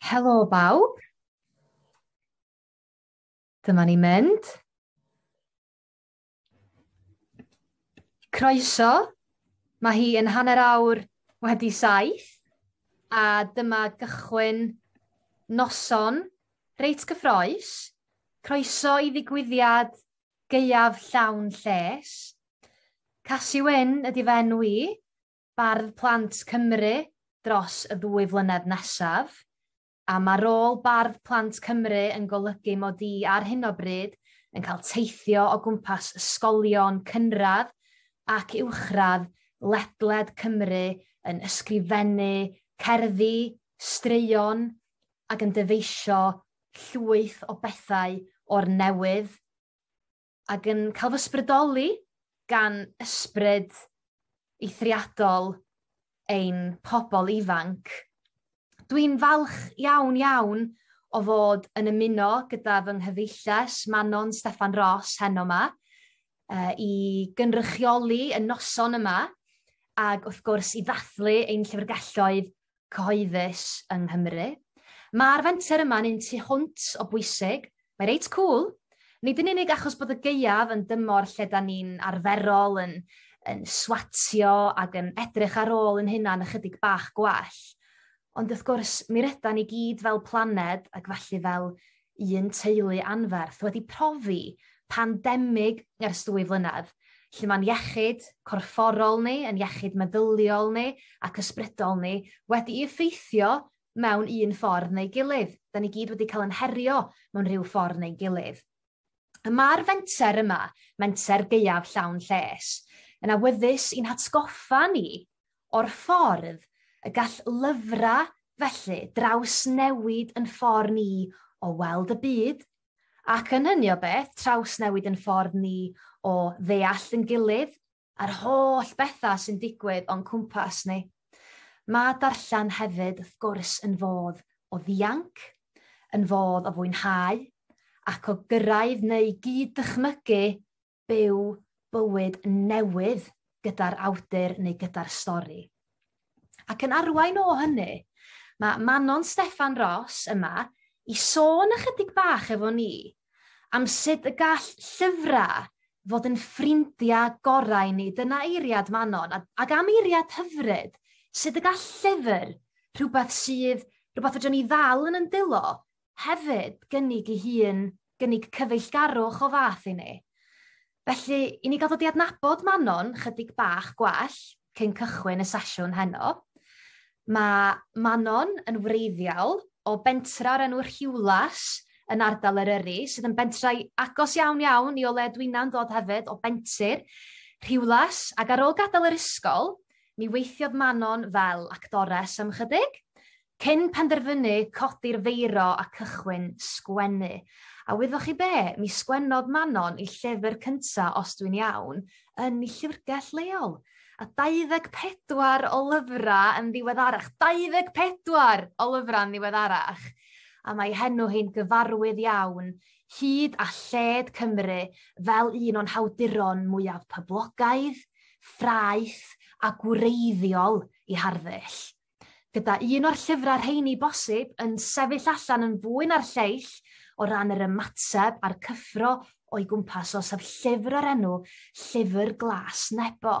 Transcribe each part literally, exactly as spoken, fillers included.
Helo bawb. Dyma ni'n mynd. Croeso. Mae hi yn hanner awr wedi saith a dyma gychwyn noson reit gyffrous. Croeso i ddigwyddiad Gaeaf Llawn Lles. Casi Wyn ydy fy enw i, Bardd Plant Cymru dros y ddwy flynedd nesaf. A mae rôl Bardd Plant Cymru yn golygu mod i ar hyn o bryd yn cael teithio o gwmpas ysgolion cynradd ac uwchradd ledled Cymru yn ysgrifennu cerddi, straeon ac yn dyfeisio llwyth o bethau o'r newydd ac yn cael fy ysbrydoli gan ysbryd eithriadol ein pobl ifanc. Dwi'n falch iawn iawn o fod yn ymuno gyda fy nghyfeilles Manon Steffan Ros heno yma uh, i gynrychioli y noson yma ac wrth gwrs i ddathlu ein llyfrgelloedd cyhoeddus yng Nghymru. Mae'r fenter yma'n un tu hwnt o bwysig, mae reit cool, nid yn unig achos bod y gaeaf yn dymor lle da ni'n arferol yn, yn swatio ac yn edrych ar ôl yn hunan ychydig bach gwell, ond wrth gwrs mi rydan ni gyd fel planed ac felly fel un teulu anferth wedi profi pandemig ers dwy flynedd, lle mae'n iechyd corfforol ni, yn iechyd meddyliol ni ac ysbrydol ni wedi effeithio mewn un ffordd neu gilydd. Da ni gyd wedi cael yn herio mewn rhyw ffordd neu gilydd. Y mae'r fenter yma, menter Gaeaf Llawn Lles, yn awyddus i'n hatgoffa ni o'r ffordd y gall lyfrau felly drawsnewid yn ffordd ni o weld y byd, ac yn hynny o beth, trawsnewid yn ffordd ni o ddeall yn gilydd a'r holl bethau sy'n digwydd o'n cwmpas ni. Mae darllen hefyd, wrth gwrs, yn fodd o ddianc, yn fodd o fwynhau, ac o gyrraedd neu gyd-dychmygu byw bywyd newydd gyda'r awdur neu gyda'r stori. Ac yn arwain o hynny, mae Manon Steffan Ros yma i sôn ychydig bach efo ni am sut y gall llyfrau fod yn ffrindiau gorau ni. Dyna eiriad Manon, ac am eiriad hyfryd, sut y gall llyfr, rhywbeth sydd, rhywbeth fedrwn ni ddal yn yndilo, hefyd gynnig ei hun, gynnig cyfeillgarwch o fath i ni. Felly, i ni gael dod i adnabod Manon chydig bach gwell cyn cychwyn y sesiwn heno, mae Manon yn wreiddiol o bentra o'r enw Rhiwlas yn ardal Eryri, sydd yn bentrau agos iawn iawn i o le dwi'n dod hefyd, o bentir Rhiwlas, ac ar ôl gadael yr ysgol, mi weithiodd Manon fel actores am chydig, cyn penderfynu codi'r feiro a cychwyn sgwennu. A wyddoch chi be, mi sgwennodd Manon ei llyfr cynta, os dwi'n iawn, yn ei llyfrgell leol. A dau ddeg pedwar o lyfrau yn ddiweddarach, dau ddeg pedwar o lyfrau yn ddiweddarach. A mae henw hi'n gyfarwydd iawn, hyd a lled Cymru, fel un o'n hawduron mwyaf poblogaidd, ffraeth a gwreiddiol i harddull. Gyda un o'r llyfrau rheini bosib yn sefyll allan yn fwy na'r lleill o ran yr ymateb a'r cyffro o'i gwmpas o, sef llyfr o'r enw Llyfr Glas Nebo.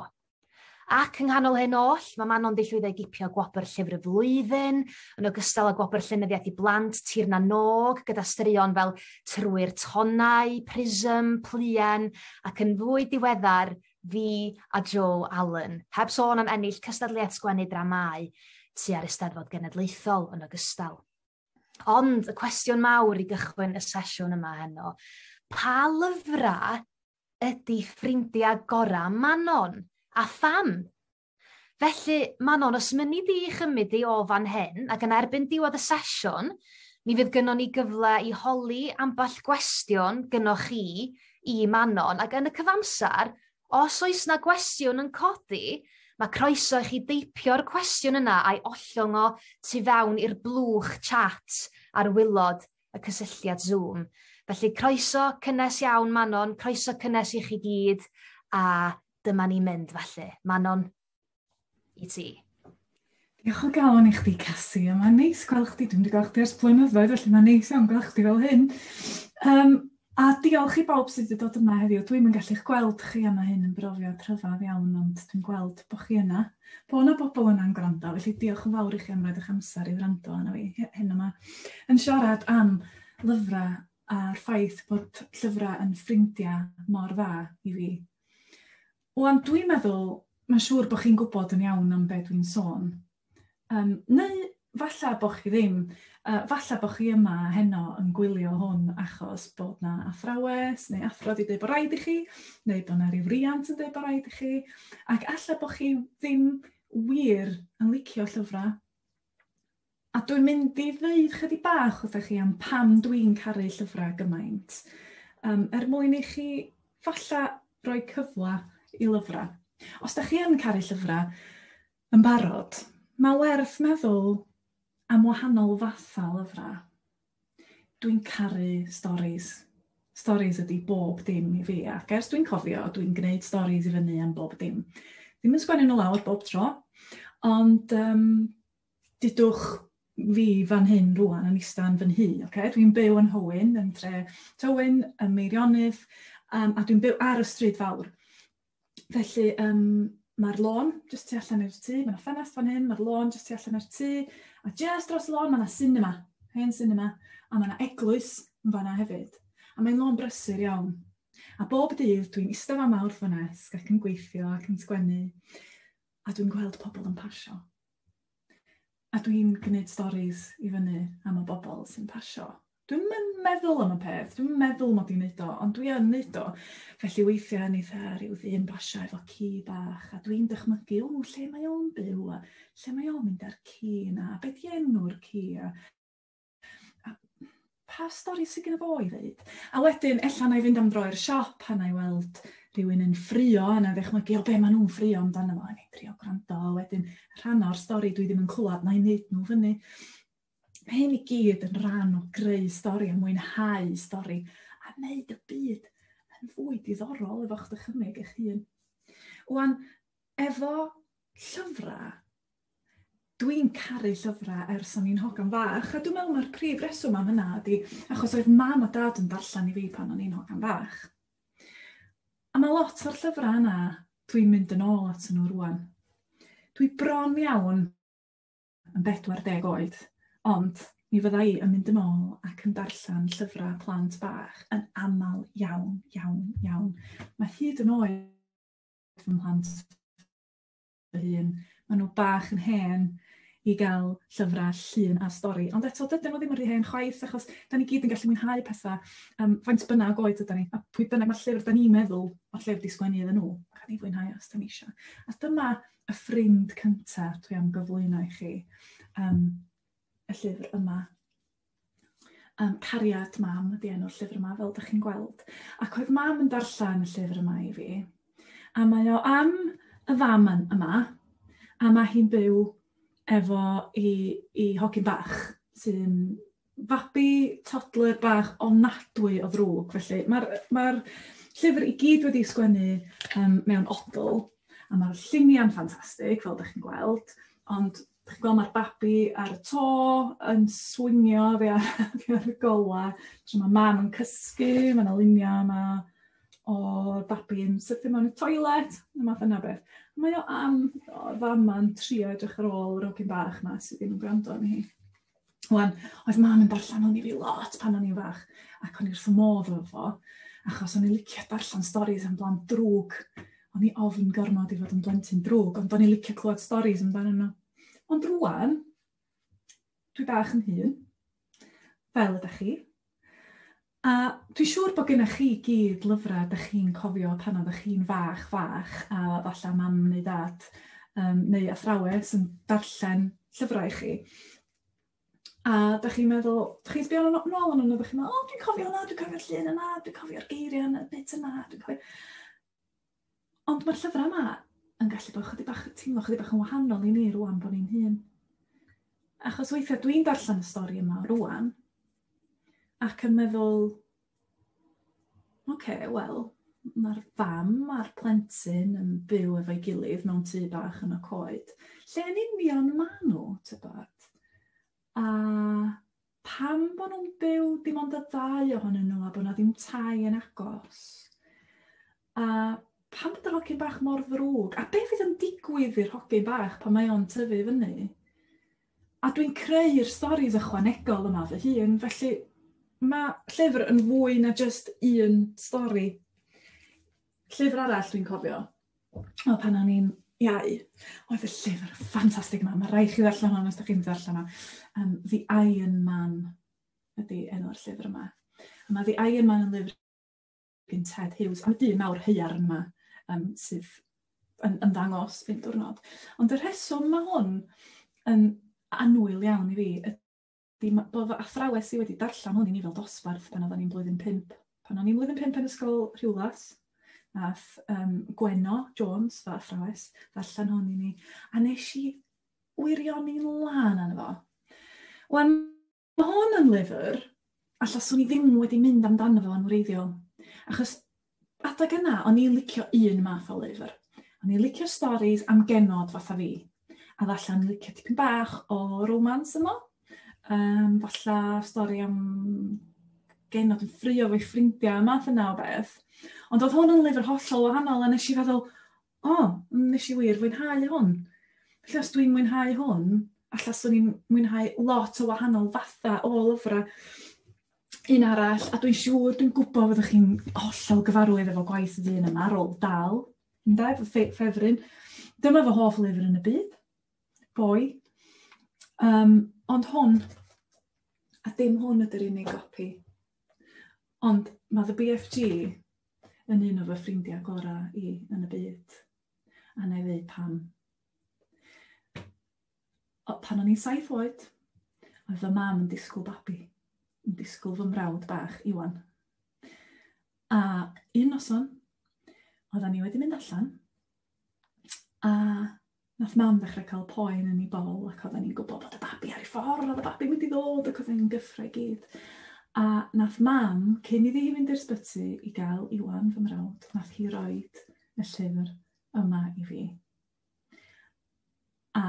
Ac yng nghanol hyn oll, mae Manon 'di llwyddo i gipio gwobr Llyfr y Flwyddyn, yn ogystal â gwobr Llenyddiaeth i Blant Tir na Nog, gyda straeon fel Trwy'r Tonnau, Prism, Pluen, ac yn fwy diweddar, Fi a Joe Allen. Heb sôn am ennill cystadleuaeth sgwennu dramâu tua'r Eisteddfod Genedlaethol yn ogystal. Ond y cwestiwn mawr i gychwyn y sesiwn yma heno, pa lyfrau ydy ffrindiau gorau Manon? A pham? Felly, Manon, os mynni di chymryd di o fan hyn, ac yn erbyn diwedd y sesiwn, mi fydd gynnon ni gyfle i holi ambell gwestiwn gynnoch chi i Manon, ac yn y cyfamser, os oes na gwestiwn yn codi, mae croeso i chi deipio'r cwestiwn yna a'i ollwng o tu fewn i'r blwch chat ar waelod y cysylltiad Zoom. Felly, croeso cynnes iawn, Manon, croeso cynnes i chi gyd, a dyma ni'n mynd felly. Manon, i ti. Diolch o galon i chdi, Casi, a mae'n neis gweld chdi. Dwi'm 'di gweld chdi ers blynyddoedd, felly mae'n neis iawn gweld chdi fel hyn. Um, a diolch i bawb sydd wedi dod yma heddiw. Dwi'm yn gallu'ch gweld chi a mae hyn yn brofiad rhyfedd iawn, ond dwi'n gweld bod chi yna. Bo' 'na bobl yna'n gwrando, felly diolch yn fawr i chi am roid eich amser i wrando arna fi hyn yma. Yn siarad am lyfrau a'r ffaith bod llyfrau yn ffrindiau mor dda i fi. Wan, dwi'n meddwl, mae'n siŵr bod chi'n gwybod yn iawn am be dwi'n sôn. Um, neu falla bod chi ddim. Uh, falla bod chi yma heno yn gwylio hwn achos bod 'na athrawes neu athro wedi dweud bod rhaid i chi, neu bod 'na ryw riant yn dweud bod rhaid i chi, ac alla bod chi ddim wir yn licio llyfrau. A dwi'n mynd i ddeud chydig bach wrthych chi am pam dwi'n caru llyfrau gymaint, um, er mwyn i chi falla roi cyfle i lyfrau. Os da chi yn caru llyfrau yn barod, mae werth meddwl am wahanol fathau lyfrau. Dwi'n caru storis. Storis ydy bob dim i fi, ac ers dwi'n cofio, dwi'n gwneud storis i fyny am bob dim. Ddim yn sgwennu nhw lawr bob tro, ond um, dudwch fi fan hyn rwan yn ista yn fy nhŷ. Okay? Dwi'n byw yn Hywyn, yn tre Tywyn, ym Meirionnydd, um, a dwi'n byw ar y stryd fawr. Felly, um, mae'r lôn jyst tu allan i'r tŷ, mae 'na ffenest fan hyn, mae'r lôn jyst tu allan i'r tŷ, a jyst dros y lôn mae 'na cinema, hen cinema, a mae 'na eglwys yn fanna hefyd. A mae'n lôn brysur iawn. A bob dydd dwi'n eistedd fama wrth fy nesg ac yn gweithio ac yn sgwennu, a dwi'n gweld pobl yn pasio. A dwi'n gwneud storis i fyny am y bobl sy'n pasio. Dwi'm yn meddwl am y peth, dwi'm yn meddwl mod i'n neud o, ond dwi yn neud o. Felly weithiau neith rhyw ddyn basio efo ci bach, a dwi'n dychmygu, o, lle mae o'n byw, a lle mae o'n mynd â'r ci yna, a be di enw'r ci, a, a pa stori sydd gen fo i ddeud. A wedyn, ella na i fynd am dro i'r siop, a na i weld rhywun yn ffrio, a na i ddychmygu, o, be maen nhw'n ffrio amdano fo, a na i drio gwrando, a wedyn rhan o'r stori dwi ddim yn clywed, na i wneud nhw fyny. Mae hyn i gyd yn rhan o greu stori a mwynhau stori a wneud y byd yn fwy diddorol efo'ch dychymyg eich hun. Wan, efo llyfrau, dwi'n caru llyfrau ers o'n i'n hogan fach, a dwi'n meddwl mae'r prif reswm am hynna ydy achos oedd mam a dad yn darllen i fi pan o'n i'n hogan fach. A mae lot o'r llyfrau yna dwi'n mynd yn ôl at nhw rwan. Dwi bron iawn yn bedwar deg oed, ond mi fydda i yn mynd yn ôl ac yn darllen llyfrau plant bach yn aml iawn, iawn, iawn. Mae hyd yn oed fy mhlant fy hun, maen nhw bach yn hen i gael llyfrau llun a stori. Ond eto, dydyn nhw ddim yn rhy hen chwaith, achos da ni gyd yn gallu mwynhau pethau, um, faint bynnag oed ydyn ni, a pwy bynnag mae'r llyfr da ni'n meddwl mae'r llyfr di sgwennu iddyn nhw, a ni fwynhau os da ni eisiau. A dyma y ffrind cyntaf dwi am gyflwyno i chi. Um, y llyfr yma. Um, Cariad Mam ydy enw'r llyfr yma, fel ydych chi'n gweld. Ac oedd mam yn darllen y llyfr yma i fi. A mae o am y fam yma, a mae hi'n byw efo i, i hogyn bach, sy'n fabi toddler bach ofnadwy o ddrwg. Felly mae'r mae llyfr i gyd wedi sgwennu um, mewn odl, a mae'r lluniau'n ffantastig, fel ydych chi'n gweld, ond chi'n gweld mae'r babi ar y to yn swingio fi ar, fi ar y gola. So mae mam yn cysgu, mae yna luniau yma o'r babi yn sythu mewn y toilet, y math yna beth. Mae o am o'r fam ma'n trio edrych ar ôl yr hogyn bach 'ma sydd ddim yn gwrando arni hi. Wan, oedd mam yn darllen hwn i fi lot pan o'n i'n fach, ac o'n i wrth fy modd efo fo, achos o'n i'n licio darllen storis am blant drwg. O'n i ofn gormod i fod yn blentyn drwg, ond o'n i'n licio clywed storis amdanyn nhw. Ond rwan, dwi bach yn hŷn, fel ydych chi. A dwi'n siŵr bod gennych chi gyd lyfrau ydych chi'n cofio pan oeddech chi'n fach fach, a falle mam neu dad um, neu athrawes yn darllen llyfrau i chi. A dach chi'n meddwl, dach chi'n sbio nôl arnyn nhw, dach chi'n meddwl, o, dwi'n cofio hwnna, dwi'n cofio'r llun yna, dwi'n cofio'r geiriau yna, bit yna, dwi'n cofio. Ond mae'r llyfrau yma yn gallu bod chydig bach, teimlo chydig bach yn wahanol i ni rwan bod ni'n hŷn. Achos weithiau dwi'n darllen y stori yma rwan, ac yn meddwl, oce, okay, wel, Mae'r fam a'r plentyn yn byw efo'i gilydd mewn tŷ bach yn y coed. Lle yn union maen nhw, tybed? A pam bod nhw'n byw dim ond y ddau ohonyn nhw a bod 'na ddim tai yn agos? A pam bod yr hogyn bach mor ddrwg? A be fydd yn digwydd i'r hogyn bach pan mae o'n tyfu fyny? A dwi'n creu'r storis ychwanegol yma fy hun, felly mae llyfr yn fwy na jyst un stori. Llyfr arall dwi'n cofio, o pan o'n i'n iau, oedd y llyfr ffantastig yma. Mae rhaid chi ddarllen hwn os ydych chi'n ddarllen o. Um, The Iron Man ydy enw'r llyfr yma. A mae The Iron Man yn lyfr gen Ted Hughes, am y dyn mawr haearn yma um, sydd yn ymddangos un diwrnod. Ond y rheswm mae hwn yn annwyl iawn i fi ydy bod fy athrawes i wedi darllen hwn i ni fel dosbarth pan oedden ni'n blwyddyn pump. Pan o'n i'n blwyddyn pump yn ysgol Rhiwlas, nath um, Gwenno Jones, fy athrawes, ddarllen hwn i ni, a nes i wirioni'n lân arno fo. Wan, mae hwn yn lyfr, alla swn i ddim wedi mynd amdano fo yn wreiddiol. Achos adeg yna, o'n i'n licio un math o lyfr. O'n i'n licio storis am genod fatha fi. A falle o'n i'n licio tipyn bach o romance yno. Um, falle stori am genod yn ffrio efo'i ffrindiau, math yna o beth. Ond oedd hwn yn lyfr hollol wahanol, a nes i feddwl, o, oh, nes i wir fwynhau hwn. Felly os dwi'n mwynhau hwn, alla swn i'n mwynhau lot o wahanol fatha o lyfrau. Un arall, a dwi'n siŵr, dwi'n gwybod fyddwch chi'n hollol gyfarwydd efo gwaith y dyn yma, Roald Dahl, ynde, fy ffefryn. Dyma fy hoff lyfr yn y byd, Boi. Um, ond hwn, a dim hwn ydy'r unig gopi, ond mae The B F G yn un o fy ffrindiau gorau i yn y byd. A na i ddeud pam. O, pan o'n i'n saith oed, oedd fy mam yn disgwyl babi, yn disgwyl fy mrawd bach, Iwan. A un noson, oeddan ni wedi mynd allan, a nath mam ddechrau cael poen yn ei bol, ac oeddan ni'n gwybod bod y babi ar ei ffordd, oedd y babi mynd i ddod, ac oeddan ni'n gyffro i gyd. A nath mam, cyn iddi hi fynd i'r sbyty i gael Iwan fy mrawd, nath hi roid y llyfr yma i fi. A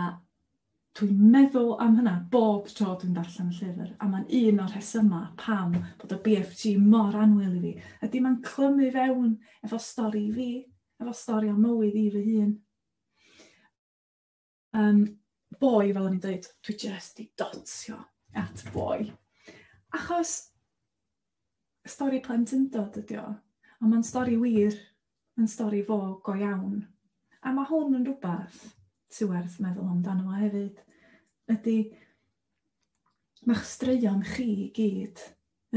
dwi'n meddwl am hynna bob tro dwi'n darllen y llyfr, a mae'n un o'r rhesymau pam bod y B F G mor annwyl i fi. Ydy mae'n clymu fewn efo stori fi, efo stori o mywyd i fy hun. Um, boi, fel o'n i'n dweud, dwi jyst i dotio at Boi. Achos stori plentyndod ydi o, ond mae'n stori wir, mae'n stori fo go iawn. A mae hwn yn rhywbeth sy'n werth meddwl amdano fo hefyd, ydy ma'ch straeon chi i gyd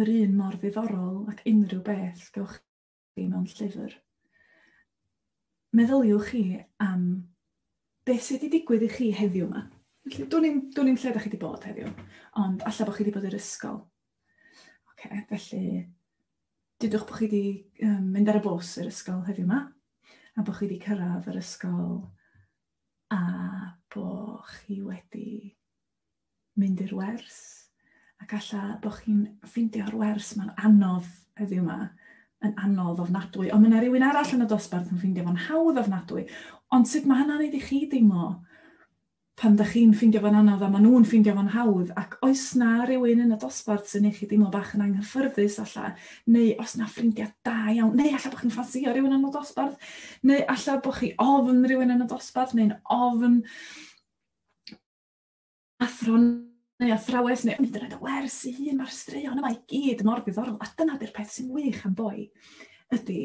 yr un mor ddiddorol ac unrhyw beth gewch chi mewn llyfr. Meddyliwch chi am beth sydd wedi digwydd i chi heddiw yma. Felly, dwn i'm, dwn i'm lle ydych chi wedi bod heddiw, ond alla bod chi wedi bod i'r ysgol. Oce, felly, dudwch bod chi wedi um, mynd ar y bws i'r ysgol heddiw yma, a bod chi wedi cyrraedd yr ysgol a bod chi wedi mynd i'r wers, ac alla bod chi'n ffeindio'r wers ma'n anodd heddiw yma, yn anodd ofnadwy, ond mae yna rhywun arall yn y dosbarth yn ffeindio fo'n hawdd ofnadwy. Ond sut mae hynna'n neud i chi deimlo pan da chi'n ffeindio fo'n anodd a maen nhw'n ffeindio fo'n hawdd, ac oes na rhywun yn y dosbarth sy'n neud chi deimlo bach yn anghyffyrddus alla, neu oes na ffrindiau da iawn, neu alla bod chi'n ffansio rhywun yn y dosbarth, neu alla bod chi ofn rhywun yn y dosbarth, neu'n ofn athro neu athrawes, neu hyd yn oed y wers ei hun, mae'r straeon yma i gyd mor ddiddorol. A dyna di'r peth sy'n wych am Boi, ydy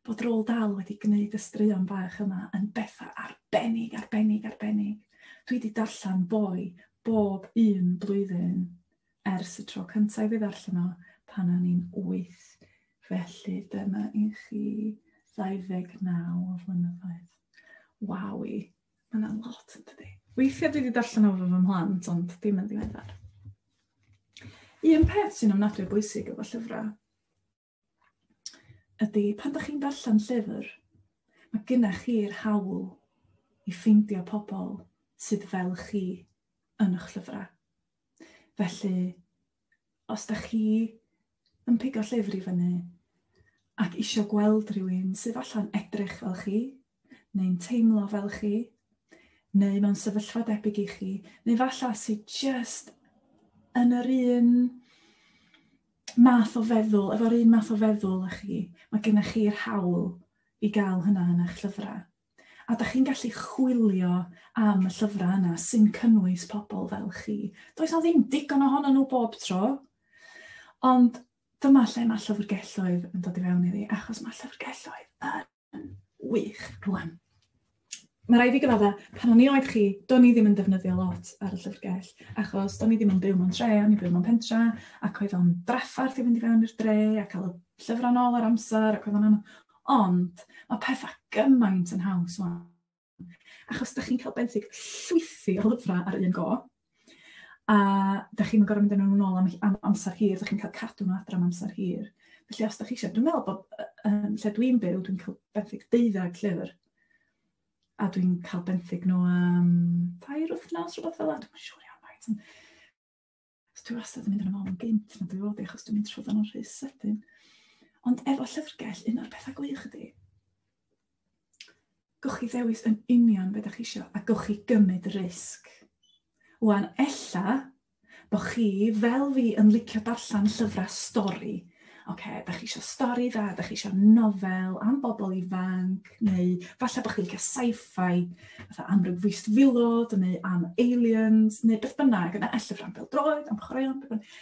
bod Roald Dahl wedi gwneud y straeon bach yma yn bethau arbennig, arbennig, arbennig. Dwi wedi darllen Boi bob un blwyddyn ers y tro cyntaf i fi ddarllen o pan o'n i'n wyth. Felly dyma i chi ddau ddeg naw o flynyddoedd. Wawi, mae yna lot yn dydi. Weithiau dwi wedi darllen o fo fy mhlant, ond dim yn ddiweddar. Un peth sy'n ofnadwy o bwysig efo llyfrau ydy pan dach chi'n darllen llyfr, mae gennych chi'r hawl i ffeindio pobl sydd fel chi yn eich llyfrau. Felly, os dach chi yn pigo llyfr i fyny Ac isio gweld rhywun sydd allan edrych fel chi, neu'n teimlo fel chi, neu mewn sefyllfa debyg i chi, neu falle sydd just yn yr un math o feddwl, efo'r un math o feddwl â chi, mae gennych chi'r hawl i gael hynna yn eich llyfrau. A da chi'n gallu chwilio am y llyfrau yna sy'n cynnwys pobl fel chi. Does na ddim digon ohonyn nhw bob tro, ond dyma lle mae llyfrgelloedd yn dod i fewn iddi, achos mae llyfrgelloedd yn wych rwan. Mae rhaid fi gyfadda, pan o'n i oed chi, do'n i ddim yn defnyddio lot ar y llyfrgell, achos do'n i ddim yn byw mewn tre, o'n i'n byw mewn pentra, ac oedd o'n draffarth i fynd i fewn i'r dre, a cael y llyfrau nôl ar amser, ac oedd o'n anodd. Ond mae pethau gymaint yn haws wan, achos da chi'n cael benthyg llwythi o lyfrau ar un go, a da chi'n gorfod mynd â nhw nôl am, am amser hir, da chi'n cael cadw nhw adra am amser hir. Felly os da chi eisiau, dwi'n meddwl bod um, lle dwi'n byw, dwi'n cael benthyg deuddag llyfr, a dwi'n cael benthyg nhw am tair wythnos, rhywbeth fel 'na, dwi'n siŵr iawn faint. So dwi wastad yn mynd yn ôl yn gynt na dwi fod i, achos dwi'n mynd trwy nhw'n rhy sydyn. Ond efo llyfrgell, un o'r pethau gwych ydy, gewch chi ddewis yn union beth ydych chi isio, a gewch chi gymryd risg. Wan, ella bo chi, fel fi, yn licio darllen llyfrau stori. Oce, da chi isio stori dda, da chi isio nofel am bobl ifanc, neu falle bod chi'n licio sci-fi, fatha am ryw fwystfilod, neu am aliens, neu beth bynnag, yna llyfrau am bêl-droed, am chwaraeon, beth bynnag.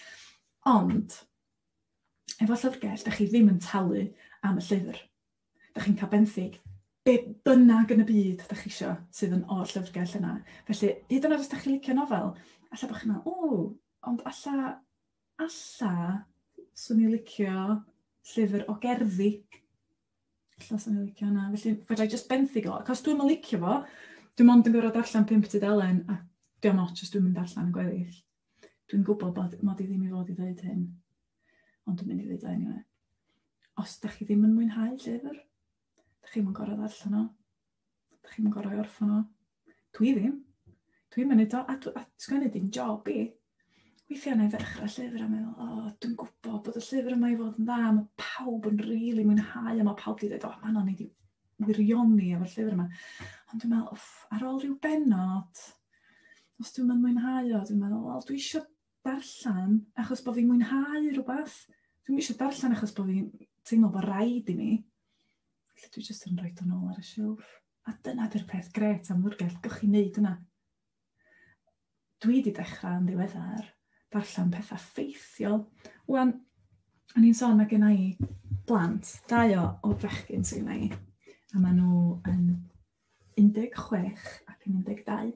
Ond, efo llyfrgell, da chi ddim yn talu am y llyfr. Da chi'n cael benthyg be bynnag yn y byd da chi isio sydd yn o'r llyfrgell yna. Felly, hyd yn oed os da chi'n licio nofel, alla bod chi'n meddwl, o, ond alla, alla, swn i'n licio llyfr o gerddi. Alla swn i'n licio hwnna. Felly, fedra i just benthyg o. Ac os dwi'm yn licio fo, dwi'n mond yn gorfod darllen pump tudalen, a diolch ots os dwi'm yn darllen y gweddill. Dwi'n gwybod bod mod i ddim i fod i ddweud hyn, ond dwi'n mynd i ddweud o anyway. Os da chi ddim yn mwynhau llyfr, da chi'm yn gorfod darllen o. Da chi'm yn gorfod orffen o. Dwi ddim. Dwi'n mynd o, a, dwi, a sgwennu di'n job i. Weithiau na i ddechrau llyfr a meddwl, o, oh, dwi'n gwybod bod y llyfr yma i fod yn dda, mae pawb yn rili really mwynhau, a mae pawb wedi dweud, o, oh, ma'n i wirioni efo'r llyfr yma. Ond dwi'n meddwl, wff, ar ôl rhyw benod, os dwi'n mynd mwynhau o, dwi'n meddwl, wel, dwi eisiau darllen achos bod fi'n mwynhau rhywbeth. Dwi'n eisiau darllen achos bod fi'n teimlo bod rhaid i mi. Felly dwi jyst yn rhoi o'n ôl ar y silff. A dyna di'r peth gret am lyfrgell, gewch chi wneud yna. Dwi wedi dechrau yn ddiweddar darllen pethau ffeithiol. Wan, o'n i'n sôn, mae gen i blant, dau o, o fechgyn sydd gen i, a maen nhw yn un deg chwech ac yn un deg dau.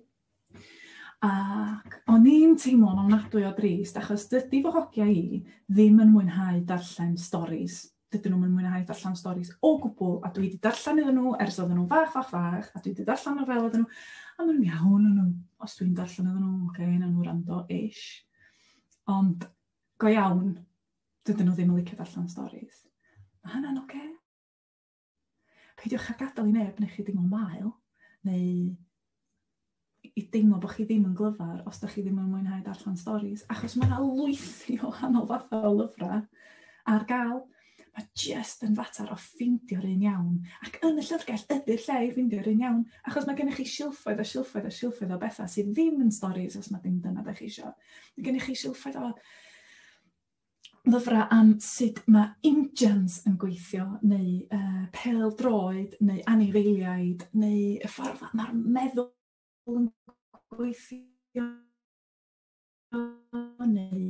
Ac o'n i'n teimlo'n ofnadwy o drist, achos dydy fy hogia i ddim yn mwynhau darllen storis. Dydyn nhw'n mwynhau darllen storis o gwbl, a dwi wedi darllen iddyn nhw ers oedden nhw'n fach, fach, fach, a dwi wedi darllen nofel iddyn nhw, a maen nhw'n iawn, nhw, os dwi'n darllen iddyn nhw, oce, okay, nawn nhw wrando ish. Ond go iawn, dydyn nhw ddim yn licio darllen storis. Mae hynna'n oce. Okay. Peidiwch â gadael i neb neu chi deimlo'n wael, neu i deimlo bod chi ddim yn glyfar os da chi ddim yn mwynhau darllen storis, achos mae yna lwythi o wahanol fathau o lyfrau ar gael. Mae jyst yn fater o ffeindio'r un iawn. Ac yn y llyfrgell ydy'r lle i ffeindio'r un iawn, achos mae gennych chi silffoedd a silffoedd a silffoedd o bethau sydd ddim yn storis os mae dim dyna da chi isio. Mae gennych chi silffoedd o lyfrau am sut mae injans yn gweithio, neu uh, pêl-droed, neu anifeiliaid, neu y ffordd mae'r meddwl yn gweithio, neu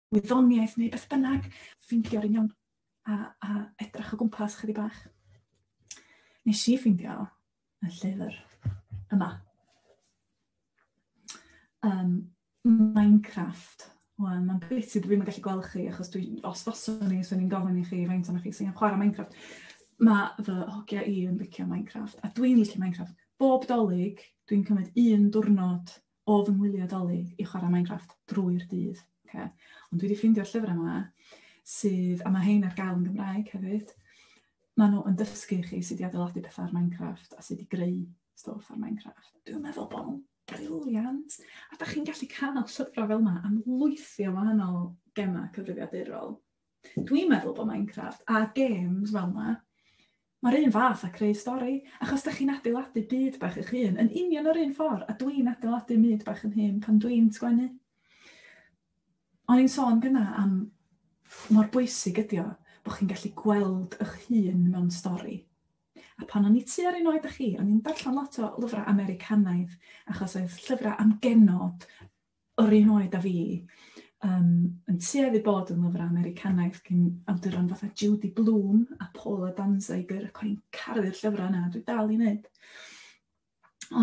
wyddoniaeth neu beth bynnag, ffeindio'r un iawn a, a edrych o gwmpas chydig bach. Nes i ffeindio y llyfr yma. Um, Minecraft. Wel, mae'n bit i dwi'm yn gallu gweld chi, achos dwi, os faswn i, swn i'n gofyn i chi faint ohonoch chi sy'n chwarae Minecraft. Mae fy hogia i yn licio Minecraft, a dwi'n licio Minecraft. Bob Dolig, dwi'n cymryd un diwrnod o fy ngwyliau Dolig i chwarae Minecraft drwy'r dydd. Okay. Ond dwi wedi ffeindio'r llyfrau yma, sydd, a mae hein ar gael yn Gymraeg hefyd, maen nhw yn dysgu chi sut i adeiladu pethau ar Minecraft a sut i greu stwff ar Minecraft. Dwi'n meddwl bod nhw'n brilliant. A da chi'n gallu cael llyfrau fel yma am lwythi o wahanol gemau cyfrifiadurol. Dwi'n meddwl bod Minecraft a games fel yna, mae'r un fath a creu stori, achos da chi'n adeiladu byd bach eich hun, yn union yr un ffordd, a dwi'n adeiladu byd bach yn hun pan dwi'n sgwennu. O'n i'n sôn gynna am mor bwysig ydi o bod chi'n gallu gweld eich hun mewn stori. A pan o'n i tua'r un oed â chi, o'n i'n darllen lot o lyfrau Americanaidd, achos oedd llyfrau am genod o'r un oed â fi, um, yn tueddu bod yn lyfrau Americanaidd gyn awduron fatha Judy Blume a Paula Danziger, ac o'n i'n caru'r llyfrau yna, dwi dal i wneud.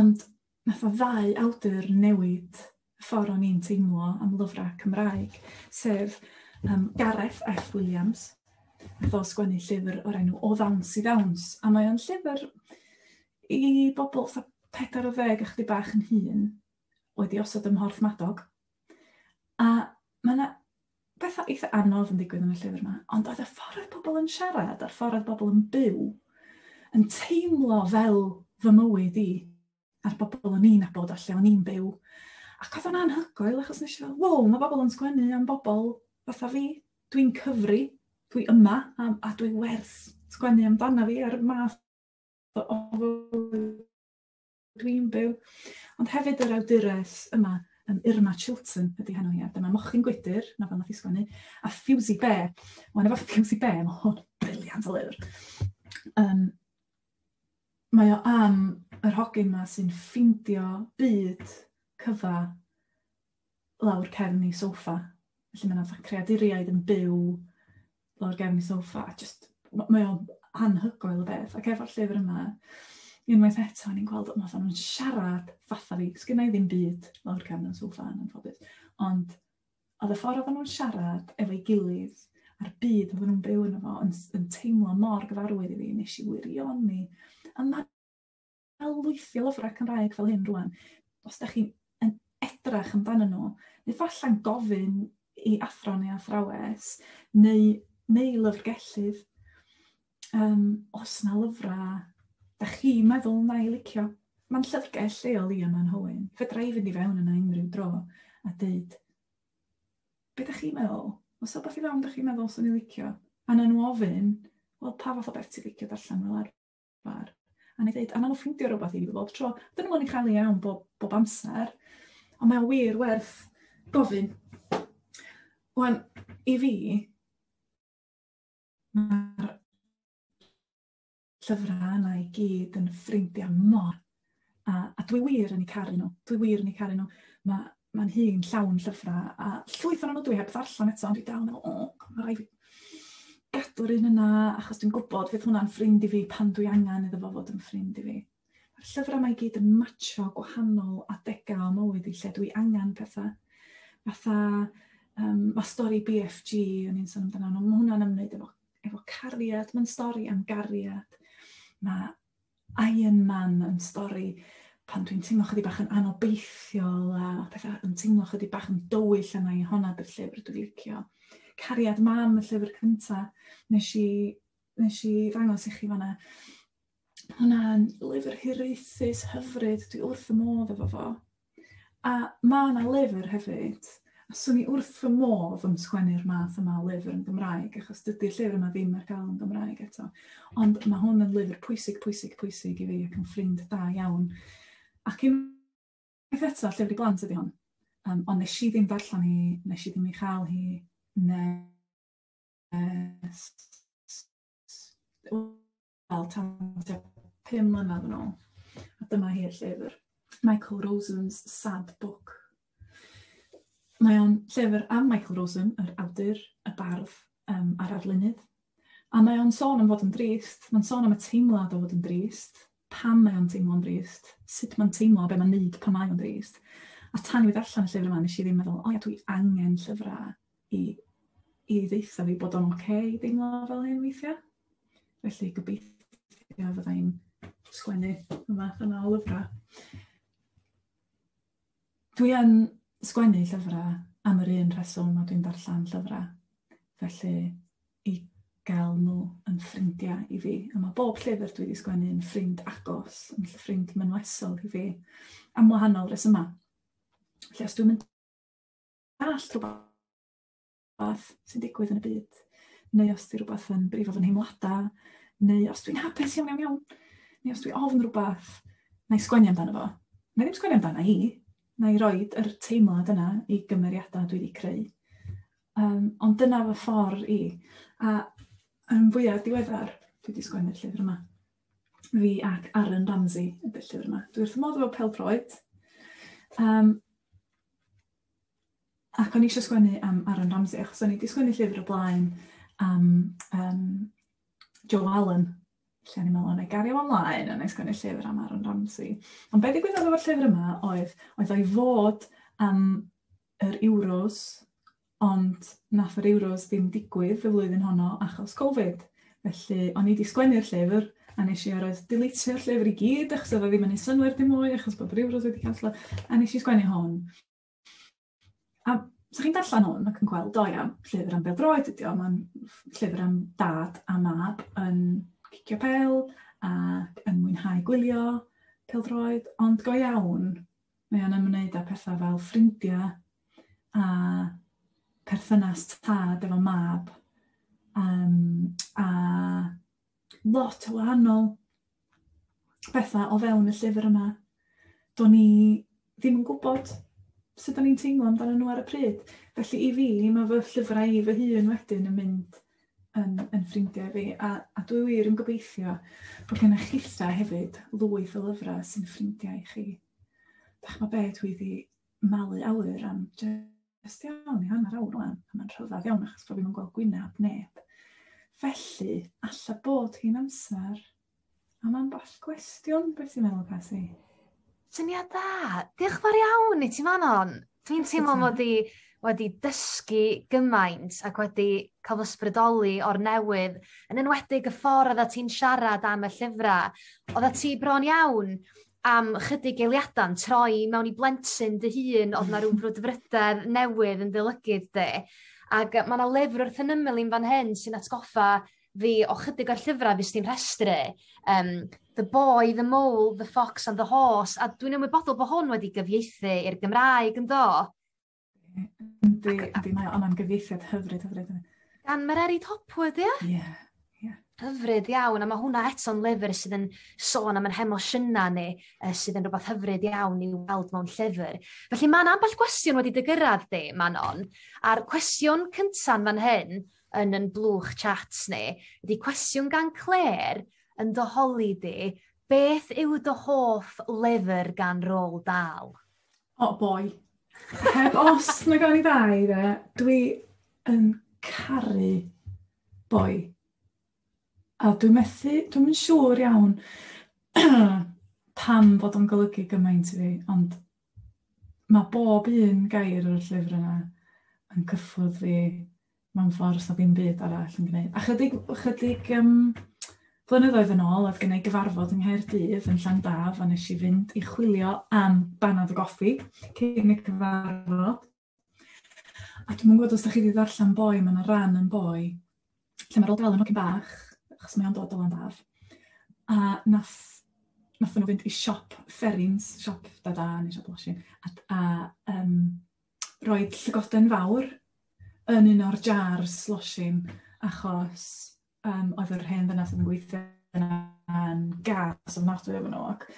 Ond nath o ddau awdur newid y ffordd o'n i'n teimlo am lyfrau Cymraeg, sef um, Gareth F Williams, nath o sgwennu llyfr o'r enw O Ddawns i Ddawns, a mae o'n llyfr i bobl fatha pedair ar ddeg a chydig bach yn hŷn, wedi osod ym Mhorthmadog. A mae yna bethau eitha anodd yn digwydd yn y llyfr yma, ond oedd y ffordd oedd pobl yn siarad a'r ffordd oedd bobl yn byw yn teimlo fel fy mywyd i a'r bobl o'n i'n nabod a lle o'n i'n byw. Ac oedd o'n anhygoel achos nes i fel, wow, mae bobl yn sgwennu am bobl fatha fi. Dwi'n cyfri, dwi yma a, a dwi werth sgwennu amdana fi a'r math o fywyd dwi'n byw. Ond hefyd yr awdures yma, um, Irma Chilton ydy henw hi, a dyma Mochyn Gwydyr, nofel nath i sgwennu, a Ffiwsi Be. Wan efo Ffiwsi Be, mae hwn brilliant o lyfr. Um, mae o am yr hogyn yma sy'n ffindio byd cyfa lawr cefn ei soffa. Felly mae yna fatha creaduriaid yn byw lawr gefn ei soffa. A just, mae o'n anhygoel o beth. Ac efo'r llyfr yma, unwaith eto, o'n i'n gweld, oedd nhw'n siarad fatha fi. Sgynna i ddim byd lawr cefn y soffa yn anffodus. Ond oedd y ffordd oedden nhw'n siarad efo'i gilydd a'r byd oedden nhw'n byw yno fo yn, yn teimlo mor gyfarwydd i fi, nes i wirioni. A mae lwythi o lyfrau Cymraeg fel hyn rwan. Os da chi'n yn edrach amdanyn nhw, neu falla'n gofyn i athro neu athrawes, neu, neu lyfrgellydd, um, os na lyfrau da chi'n meddwl na i licio. Mae'n llyfrgell lleol i yma'n Hywyn. Fedra i fynd i fewn yna unrhyw dro a deud, be da chi'n meddwl? Os o beth i fewn da chi'n meddwl swn i licio? A na nhw ofyn, wel, pa fath o beth ti'n licio darllen fel arfer? A na i ddeud, a na nhw ffeindio rhywbeth i fi bob tro. Dyn nhw'n ei chael ei iawn bob, bob amser, ond mae o wir werth gofyn. Wan, i fi, mae'r llyfrau yna i gyd yn ffrindiau mor. A, a dwi wir yn eu caru nhw. Dwi wir yn eu caru nhw. Mae mae'n hun llawn llyfrau, a llwyth ohonyn nhw dwi heb ddarllen eto, ond dwi dal yn meddwl, o, mae rhaid fi gadw'r un yna, achos dwi'n gwybod fydd hwnna'n ffrind i fi pan dwi angen iddo fo fod yn ffrind i fi. Mae'r llyfrau yma i gyd yn matcho gwahanol adegau o mywyd i lle dwi angen pethau. Fatha, um, mae stori B F G, o'n i'n sôn amdano, mae hwnna'n ymwneud efo, efo cariad, mae'n stori am gariad. Mae Iron Man yn stori pan dwi'n teimlo chydig bach yn anobeithiol a pethau yn teimlo chydig bach yn dywyll yna i honna dy'r llyfr dwi'n licio. Cariad Mam, y llyfr cynta, nes i, nes i ddangos i chi fanna. Hwnna'n lyfr hiraethus, hyfryd, dwi wrth y modd efo fo. A ma' 'na lyfr hefyd, a swn i wrth fy modd yn sgwennu'r math yma o lyfr yn Gymraeg, achos dydy'r llyfr yma ddim ar gael yn Gymraeg eto. Ond mae hwn yn lyfr pwysig, pwysig, pwysig i fi ac yn ffrind da iawn. Ac unwaith eto, llyfr i blant ydy hwn. Um, ond nes i ddim darllen hi, nes i ddim ei chael hi, nes... Wel, tan tua pum mlynedd yn ôl. A dyma hi'r llyfr. Michael Rosen's Sad Book. Mae o'n llyfr am Michael Rosen, yr awdur, y bardd um, a'r arlunydd. A mae o'n sôn am fod yn drist. Mae'n sôn am y teimlad o fod yn drist. Pam mae o'n teimlo'n drist. Sut mae'n teimlo, be mae'n neud pan mae o'n drist. A tan i fi ddarllen y llyfr yma, nes i ddim meddwl, o ia, dwi angen llyfrau i, i ddeutha fi bod o'n oce i deimlo fel hyn weithiau. Felly gobeithio fyddai'n sgwennu y math yma o lyfrau. Dwi yn sgwennu llyfrau am yr un rheswm a dwi'n darllen llyfrau. Felly i gael nhw yn ffrindiau i fi. A mae bob llyfr dwi wedi sgwennu yn ffrind agos, yn ffrind mynwesol i fi, am wahanol resymau. Felly os dwi'n mynd dallt rhywbeth rhywbeth sy'n digwydd yn y byd, neu os di rhywbeth yn brifo fy nheimladau, neu os dwi'n hapus iawn iawn iawn, neu os dwi ofn rhywbeth, na i sgwennu amdano fo. Na i ddim sgwennu amdano i, na i roid yr teimlad yna i gymeriadau dwi wedi creu. Um, ond dyna fy ffordd i. A yn fwyaf diweddar, dwi wedi sgwennu'r llyfr yma. Fi ac Aaron Ramsey ydy'r llyfr yma. Dwi wrth fy modd efo pêl-droed. Um, ac o'n i eisiau sgwennu am Aaron Ramsey, achos o'n i wedi sgwennu llyfr o blaen am um, Joe Allen, lle o'n i'n meddwl, na i gario ymlaen a na i sgwennu llyfr am Aaron Ramsey. Ond be ddigwyddodd efo'r llyfr yma oedd, oedd o'i fod am yr Euros, ond nath yr Euros ddim digwydd y flwyddyn honno achos Covid. Felly, o'n i wedi sgwennu'r llyfr, a nes i arod deletio'r llyfr i gyd, achos oedd o ddim yn ei synnwyr dim mwy, achos bod yr Euros wedi canslo, a nes i sgwennu hwn. A so chi'n darllen hwn ac yn gweld, o ia, llyfr am bêl-droed ydi o, mae'n llyfr am dad a mab yn cicio pêl ac yn mwynhau gwylio pêl-droed, ond go iawn, mae o'n ymwneud â pethau fel ffrindiau a perthynas tad efo mab, um, a lot o wahanol bethau o fewn y llyfr yma. Do'n i ddim yn gwybod sut o'n i'n teimlo amdano nhw ar y pryd. Felly i fi, mae fy llyfrau i fy hun wedyn yn mynd yn, yn ffrindiau fi. A, a dwi wir yn gobeithio bod gennych chitha hefyd lwyth o lyfrau sy'n ffrindiau i chi. Dach ma be dwi wedi malu awyr am jyst iawn i hanner awr rwan. A mae'n rhyfedd iawn achos bod fi'n gweld gwynab neb. Felly, alla bod hi'n amser am ambell gwestiwn, beth ti'n meddwl, Casi? Syniad da. Diolch fawr iawn i ti, Manon. Dwi'n teimlo mod i wedi dysgu gymaint ac wedi cael fy ysbrydoli o'r newydd, yn enwedig y ffordd oedda ti'n siarad am y llyfrau. Oedda ti bron iawn am chydig eiliadau'n troi mewn i blentyn dy hun, oedd na rhyw brwdfrydedd newydd yn dy lygid di. Ac mae yna lyfr wrth yn ymyl i'n fan hyn sy'n atgoffa fi o chydig o'r llyfrau fes ti'n rhestru. Um, The Boy, The Mole, The Fox and the Horse. A dwi'n ymwybodol bod hwn wedi gyfieithu i'r Gymraeg, yn do? Yndi, yndi, mae o, mae'n gyfieithiad hyfryd, hyfryd. Gan Mererid Hopwood, ie? Ie, ie. Hyfryd iawn, a mae hwnna eto'n lyfr sydd yn sôn am ein hemosiynau ni, uh, sydd yn rhywbeth hyfryd iawn i'w weld mewn llyfr. Felly mae yna ambell gwestiwn wedi dy gyrraedd di, Manon, a'r cwestiwn cynta'n fan hyn, yn yn blwch chats ni, ydy cwestiwn gan Claire yn dy holi di, beth yw dy hoff lyfr gan Roald Dahl? O, oh, boi. Heb os na gawn i ddau, de, dwi yn caru Boi. A dwi'n methu, dwi'n yn siŵr iawn pam fod o'n golygu gymaint i fi, ond mae bob un gair o'r llyfr yna yn cyffwrdd fi mewn ffordd sa ddim byd arall yn gwneud. A chydig, chydig um, blynyddoedd yn ôl, oedd gen i gyfarfod yng Nghaerdydd yn Llandaf, a nes i fynd i chwilio am banad o goffi cyn y cyfarfod. A dwi'm yn gwybod os da chi wedi ddarllen Boi, mae yna ran yn Boi, lle mae Roald Dahl yn hogyn bach, achos mae o'n dod o Landaf. A nath, nath nhw fynd i siop Ferrins, siop Dada neu siop Losin, a, a um, roed llygoden fawr yn un o'r jars losin, achos um, oedd yr hen ddynas oedd yn gweithio yna yn gas ofnadwy efo nhw. Ac,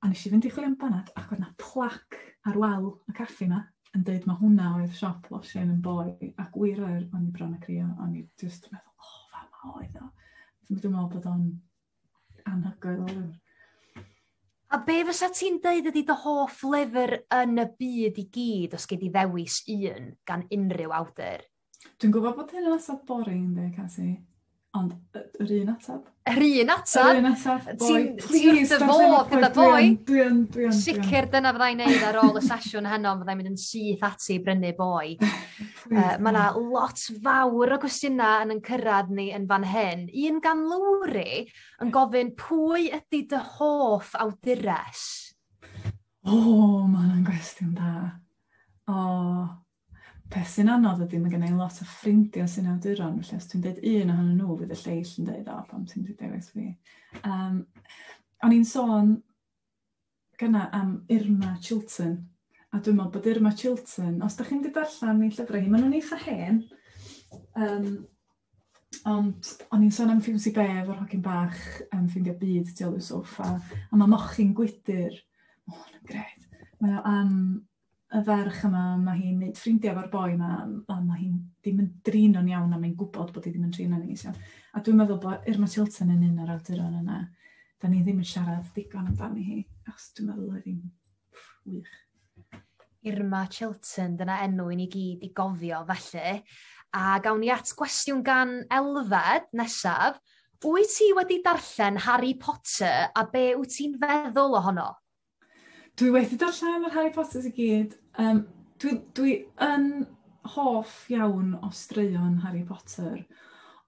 a nes i fynd i chwilio am banad, ac oedd yna plac ar wal y caffi yma yn dweud mae hwnna oedd siop losin yn Boi, ac wir oer, o'n i bron a crio, o'n i just yn meddwl, o, oh, fama oedd o. Dwi'n meddwl bod o'n anhygoel o lyfr. A be fysa ti'n deud ydy dy hoff lyfr yn y byd i gyd os gei di ddewis un gan unrhyw awdur? Dwi'n gwybod bod hyn yn ateb boring, ynddi, Casi? Ond yr un ateb. Yr un ateb? Yr un ateb, Boi. Please, ti'n wrth dy fodd gyda Boi. Dwi yn, dwi yn. Sicr dyna fyddai'n neud ar ôl y sesiwn heno, fyddai'n mynd yn syth ati i brynu Boi. uh, Mae yna lot fawr o gwestiynau yn yn cyrraedd ni yn fan hyn. Un gan Lowri yn gofyn, pwy ydy dy hoff awdures? O, oh, mae hwnna'n gwestiwn da. O, oh. Peth sy'n anodd ydy, mae gen i lot o ffrindiau sy'n awduron, felly os dwi'n dweud un ohonyn nhw, fydd y lleill yn dweud, o, pam ti'n wedi dewis fi. Um, o'n i'n sôn gynna am Irma Chilton, A dwi'n meddwl bod Irma Chilton, os da chi'n mynd i darllen ei llyfrau hi, maen nhw'n eitha hen. Um, ond o'n i'n sôn am Fiwsy Bear efo'r hogyn bach yn ffeindio byd tu ôl i'w soffa. A mae Mochyn Gwydyr, o, oh, yn gret. Mae o am y ferch yma, mae hi'n neud ffrindiau efo'r boi yma, a mae hi'n ddim yn drin o'n iawn, a mae'n gwybod bod hi ddim yn trin o'n neis iawn. A dwi'n meddwl bod Irma Chilton yn un o'r awduron yna. Da ni ddim yn siarad digon amdani hi, achos dwi'n meddwl oedd hi'n wych. Irma Chilton, dyna enw i ni gyd i gofio felly. A gawn ni at gwestiwn gan Elfed nesaf. Wyt ti wedi darllen Harry Potter a be wyt ti'n feddwl ohono? Dwi wedi darllen yr Harry Potters i gyd. Um, dwi, dwi yn hoff iawn o straeon Harry Potter,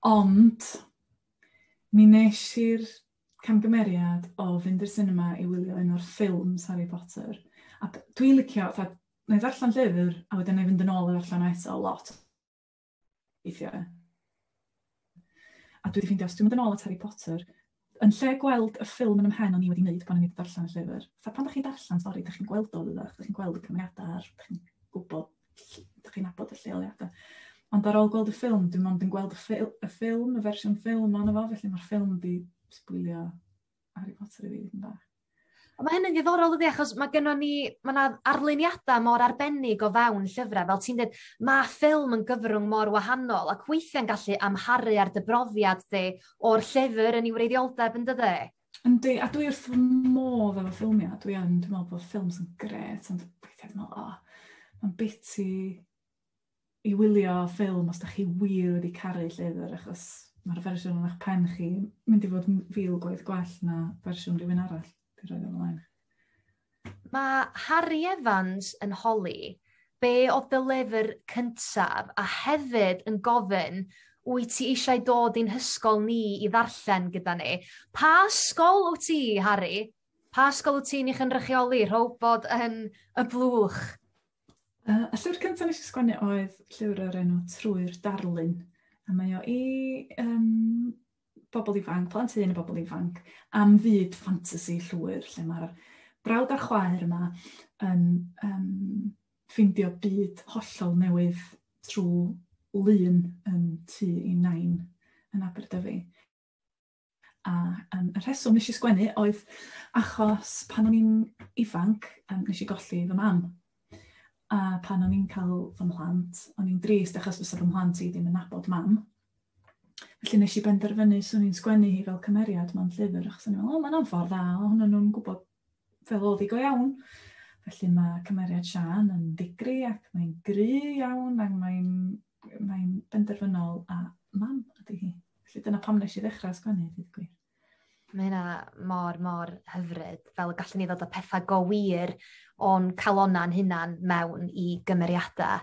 ond mi nes i'r camgymeriad o fynd i'r cinema i wylio un o'r ffilms Harry Potter. A dwi'n licio, fatha, na i ddarllen llyfr, a wedyn na i fynd yn ôl a ddarllen o eto lot. Weithiau. A dwi wedi ffeindio, os dwi'n mynd yn ôl at Harry Potter, yn lle gweld y ffilm yn 'y mhen o'n i wedi wneud pan o'n i wedi darllen y llyfr. Fatha pan dach chi'n darllen stori, dach chi'n gweld o, dydach? Dach chi'n gweld y cymeriadau, dach chi'n gwybod, dach chi'n nabod y lleoliadau. Ond ar ôl gweld y ffilm, dwi'n mond yn gweld y, ffil, y ffilm, y fersiwn ffilm ohono fo, felly mae'r ffilm wedi sbwylio Harry Potter i fi dipyn bach. Ond mae hynny'n ddiddorol dydi, achos mae gennon ni, mae yna arluniadau mor arbennig o fewn llyfrau, fel ti'n dweud, mae ffilm yn gyfrwng mor wahanol, ac weithiau'n gallu amharu ar dy brofiad di o'r llyfr yn ei wreiddioldeb, yn dydy? Yndi, a dwi wrth fy modd efo ffilmiau, dwi yn, dwi'n meddwl bod ffilms yn gret, ond weithiau dwi'n meddwl, oh, mae'n biti i wylio ffilm os da chi wir wedi caru llyfr, achos mae'r fersiwn yn eich pen chi mynd i fod fil gwaith gwell na fersiwn rhywun arall. Mae Harry Evans yn holi be oedd dy lyfr cyntaf a hefyd yn gofyn wyt ti eisiau dod i'n hysgol ni i ddarllen gyda ni. Pa ysgol wyt ti, Harry? Pa ysgol wyt ti'n ei chynrychioli? Rho bod yn y blwch. Uh, y llyfr cyntaf nes i sgwennu oedd llyfr o'r enw Trwy'r Darlun. A mae o i um, bobl ifanc, plant hŷn a bobl ifanc, am fyd ffantasi llwyr, lle mae'r brawd a'r chwaer yma yn um, ffindio byd hollol newydd trwy lun yn tŷ i nain yn Aberdyfi. A um, y rheswm nes i sgwennu oedd achos pan o'n i'n ifanc, um, nes i golli fy mam. A pan o'n i'n cael fy mhlant, o'n i'n drist achos fysa fy mhlant i ddim yn nabod mam. Felly nes i benderfynu swn i'n sgwennu hi fel cymeriad mewn llyfr, achos o'n i'n meddwl, o, mae'n ffordd dda, o, hwnnw nhw'n gwybod fel oedd hi go iawn. Felly mae cymeriad Sian yn ddigri ac mae'n gry iawn ac mae'n mae benderfynol a mam ydy hi. Felly dyna pam nes i ddechrau sgwennu, dweud gwir. Mae hynna mor, mor hyfryd, fel y gallwn ni ddod â pethau go wir o'n calona'n hunan mewn i gymeriadau.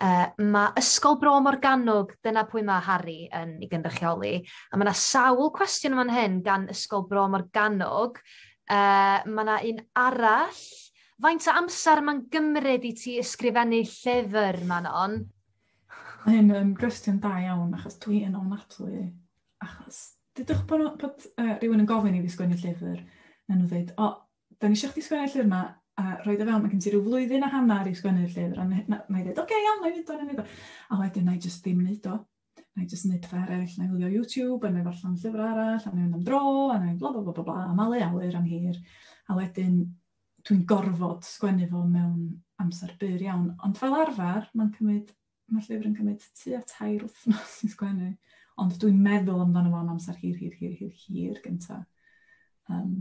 Uh, mae Ysgol Bro Morgannwg, dyna pwy mae Harry yn ei gynrychioli, a mae yna sawl cwestiwn fan hyn gan Ysgol Bro Morgannwg. Uh, mae yna un arall. Faint o amser mae'n gymryd i ti ysgrifennu llyfr, Manon? Mae hyn yn gwestiwn da iawn, achos dwi yn ofnadwy, achos dydwch bod, bod uh, rhywun yn gofyn i fi sgwennu llyfr, na nhw ddweud, o, da ni eisiau chdi sgwennu llyfr yma, a rhoi o fewn, mae gen ti rhyw flwyddyn a hanner i sgwennu'r llyfr, a na, na i ddweud, oce, okay, iawn, na i wneud o, na i wneud o. A wedyn, na i jyst ddim wneud o. Na i jyst wneud pethau eraill, na i wylio YouTube, a na i ddarllen llyfr arall, a na i fynd am dro, a na i bla bla bla bla bla, a malu awyr am hir. A wedyn, dwi'n gorfod sgwennu fo mewn amser byr iawn. Ond fel arfer, mae'n cymryd, mae'r llyfr yn cymryd tua tair wythnos i sgwennu. Ond dwi'n meddwl amdano fo am amser hir, hir, hir, hir, hir gynta. Um,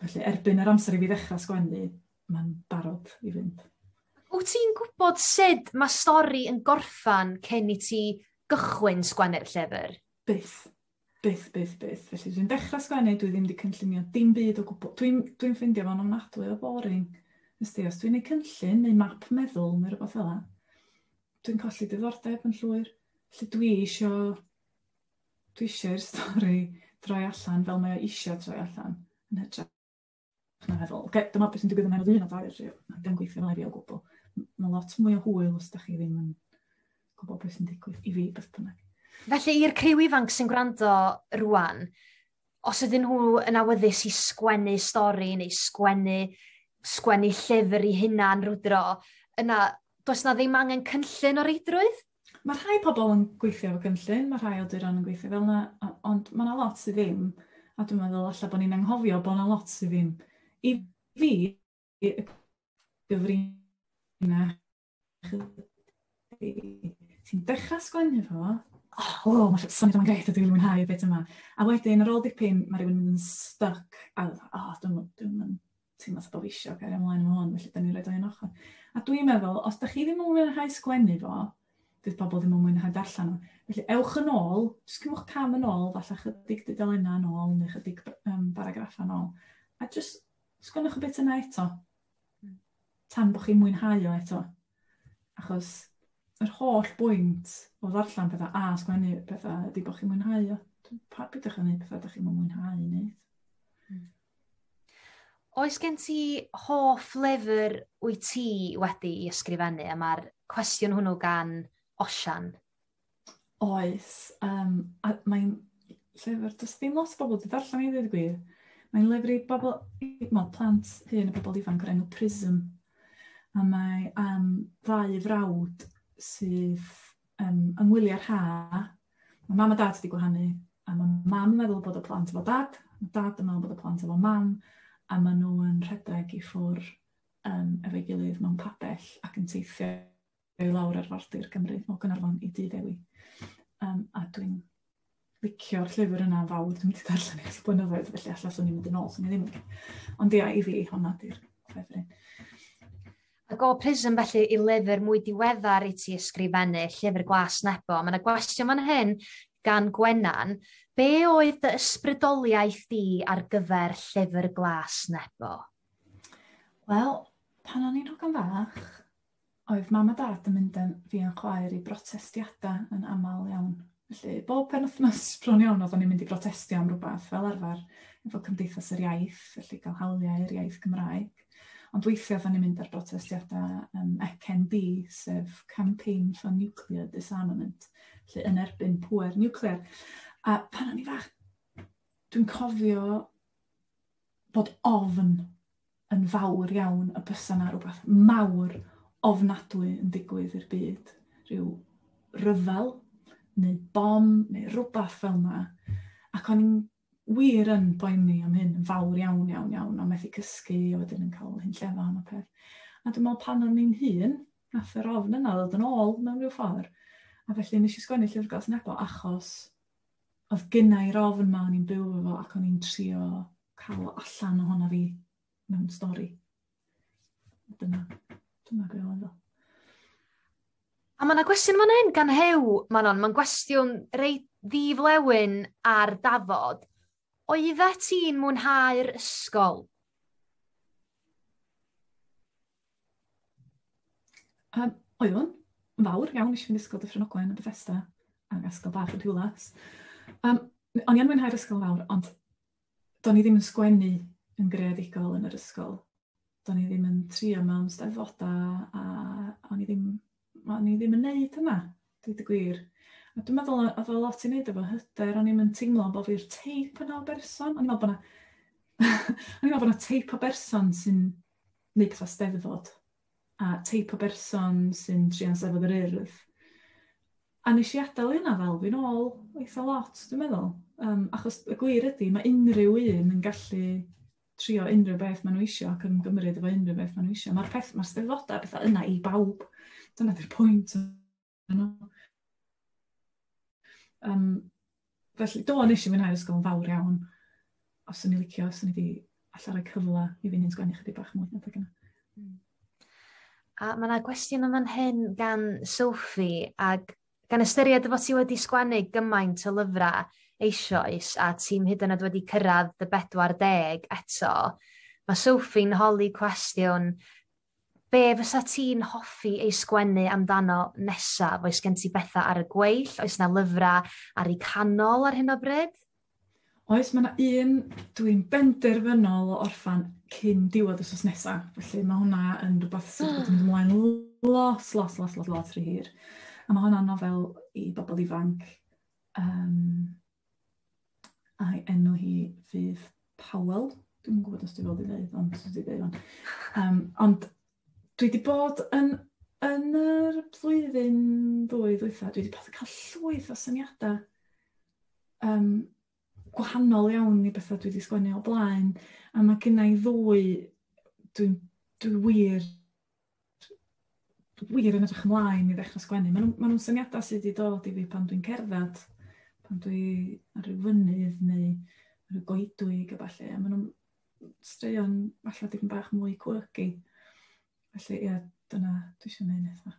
felly erbyn yr amser i fi ddechrau sgwennu, mae'n barod i fynd. Wyt ti'n gwybod sut mae stori yn gorffan cyn i ti gychwyn sgwennu'r llyfr? Byth. Byth, byth, byth. Felly dwi'n dechrau sgwennu, dwi ddim wedi cynllunio dim byd o gwbl. Dwi'n dwi ffeindio fo'n ofnadwy o boring. Ysdi, os dwi'n ei cynllun neu map meddwl neu rhywbeth fel 'na, dwi'n colli diddordeb yn llwyr. Felly dwi isio, dwi isio'r stori droi allan fel mae o isio troi allan yn hytrach na feddwl, oce, okay, dyma beth sy'n digwydd yn enw un a dau, a dim gweithio fel i fi o gwbl. Mae lot mwy o hwyl os da chi ddim yn gwybod beth sy'n digwydd i fi, beth bynnag. Felly i'r criw ifanc sy'n gwrando rwan, os ydyn nhw yn awyddus i sgwennu stori neu sgwennu sgwennu llyfr i hunan rwdro, yna does na ddim angen cynllun o reidrwydd? Mae rhai pobl yn gweithio efo cynllun, mae rhai awduron yn gweithio fel yna, ond mae yna lot sydd ddim, a dwi'n meddwl alla bod ni'n anghofio bod yna lot sydd ddim. I fi, y gyfrinach ydi, ti'n dechrau sgwennu fo, oh, oh mae'r syniad yma'n grêt a dwi'n mwynhau y bit yma. A wedyn, ar ôl dipyn, mae rhywun yn mynd yn stuck, a oh, dwi'n dwi'n teimlo fatha bod fi isio cario ymlaen efo hwn, felly da ni'n rhoid o un ochr. A dwi'n meddwl, os da chi ddim yn mwynhau sgwennu fo, fydd pobl ddim yn mwynhau darllen o. Felly ewch yn ôl, jyst cymwch cam yn ôl, falle chydig dudalennau yn ôl, neu chydig um, baragraffa yn ôl. A jyst sgwennwch y bit yna eto. Tan bod chi'n mwynhau o eto. Achos yr holl bwynt o ddarllen pethau a sgwennu pethau ydy bod chi'n mwynhau o. Pa bydych chi'n gwneud pethau ydych chi'n mwynhau i wneud. Oes gen ti hoff lyfr wyt ti wedi i ysgrifennu? A mae'r cwestiwn hwnnw gan Osian. Oes. Um, a mae'n llyfr, does ddim lot o bobl wedi darllen i ddweud y gwir. Mae'n lyfr i bobl, wel, plant hŷn a bobl ifanc o'r enw Prism. A mae am ddau frawd sydd um, yng ngwyliau'r ha. Mae mam a dad wedi gwahanu, a mae mam yn meddwl bod y plant efo dad, mae dad yn meddwl bod y plant efo mam, a maen nhw yn rhedeg i ffwr um, efo'i gilydd mewn pabell ac yn teithio i lawr arfordir Cymru o Gaernarfon i Dŷ Ddewi. Um, a dwi'n licio'r llyfr yna fawr, dwi'n mynd i darllen ers blynyddoedd, felly alla swn i'n mynd yn ôl, swn i ddim yn. Ond ia, i fi, honna di'r ffefryn. Ac o Prism felly i lyfr mwy diweddar i ti ysgrifennu, Llyfr Glas Nebo. Mae yna gwestiwn fan hyn gan Gwenan. Be oedd dy ysbrydoliaeth di ar gyfer Llyfr Glas Nebo? Wel, pan o'n i'n hogan fach, oedd mam a dad yn mynd â fi a'n chwaer i brotestiadau yn aml iawn. Felly, bob penwythnos bron iawn oedden ni'n mynd i brotestio am rhywbeth fel arfer efo Cymdeithas yr Iaith, felly gael hawliau i'r iaith Gymraeg. Ond weithiau oedden ni'n mynd ar brotestiadau um, C N D, sef Campaign for Nuclear Disarmament, felly yn erbyn pŵer niwclear. A pan o'n i fach, dwi'n cofio bod ofn yn fawr iawn y bysa 'na rhywbeth mawr ofnadwy yn digwydd i'r byd. Rhyw ryfel, neu bom, neu rhywbeth fel yna. Ac o'n i'n wir yn boeni am hyn yn fawr iawn, iawn, iawn, a methu cysgu, a wedyn yn cael hunllefon a peth. A dwi'n meddwl pan o'n i'n hŷn, nath yr ofn yna ddod yn ôl mewn rhyw ffordd. A felly nes i sgwennu Llyfr Glas Nebo achos oedd gynna i'r ofn ma o'n i'n byw efo ac o'n i'n trio cael o allan ohona fi mewn stori. Dyna, dyna be oedd o. A mae yna gwestiwn fan hyn gan Hew, Manon. Mae'n gwestiwn reit ddiflewyn ar dafod. Oeddet ti'n mwynhau'r ysgol? Um, oeddwn, yn fawr iawn, nes i fynd i Ysgol Dyffryn Ogwen yn Bethesda, ac ysgol bach yn Rhiwlas. Um, o'n i yn mwynhau'r ysgol fawr, ond do'n i ddim yn sgwennu yn greadigol yn yr ysgol. Do'n i ddim yn trio mewn steddfodau, a o'n i ddim, o'n i ddim yn neud hynna, dweud y gwir. A dwi'n meddwl oedd o lot i wneud efo hyder, o'n i'm yn teimlo bod fi'r teip yna o berson. O'n i'n meddwl bod 'na o'n i'n meddwl bod 'na teip o berson sy'n neud pethau steddfod, a teip o berson sy'n trio Steddfod yr Urdd. A nes i adael hynna fel fi'n ôl eitha lot, dwi'n meddwl. Um, achos y gwir ydy, mae unrhyw un yn gallu trio unrhyw beth maen nhw isio ac ymgymryd efo unrhyw beth maen nhw isio. Mae'r peth, mae'r steddfodau bethau yna i bawb. Dyna di'r pwynt yno. Um, felly, do, nes i mwynhau'r ysgol yn fawr iawn. Os o'n i licio, os o'n i wedi alla rhoi cyfle i fi'n hun sgwennu chydig bach mwy adeg yna. A mae yna gwestiwn yn fan hyn gan Sophie, ac gan ystyried dy fod ti wedi sgwennu gymaint o lyfrau eisoes a ti'n hyd yn oed wedi cyrraedd dy bedwar deg eto, mae Sophie'n holi cwestiwn, be fysa ti'n hoffi ei sgwennu amdano nesaf? Oes gen ti bethau ar y gweill? Oes na lyfrau ar eu canol ar hyn o bryd? Oes, mae yna un dwi'n benderfynol o orffan cyn diwedd wythnos nesaf. Felly mae hwnna yn rhywbeth sydd wedi mynd ymlaen lot, lot, lot, lot, lot rhy hir. A mae hwnna'n nofel i bobl ifanc. Um, a'i enw hi fydd Powell, Dwi'n gwybod os dwi fod i ddeud, ond dwi wedi dweud fan. Um, ond dwi wedi bod yn, yn yr flwyddyn ddwy ddwytha, dwi wedi bod yn cael llwyth o syniadau um, gwahanol iawn i bethau dwi wedi sgwennu o blaen. A mae gen i ddwy, dwi'n dwi wir, wir yn edrych ymlaen i ddechrau sgwennu. Maen nhw'n ma nhw syniadau sydd wedi dod i fi pan dwi'n cerdded, pan dwi ar ryw fynydd neu ar ryw goedwig a ballu. A maen nhw'n straeon falle dipyn bach mwy quirky. Felly, ie, dyna dwi eisiau gwneud nesaf.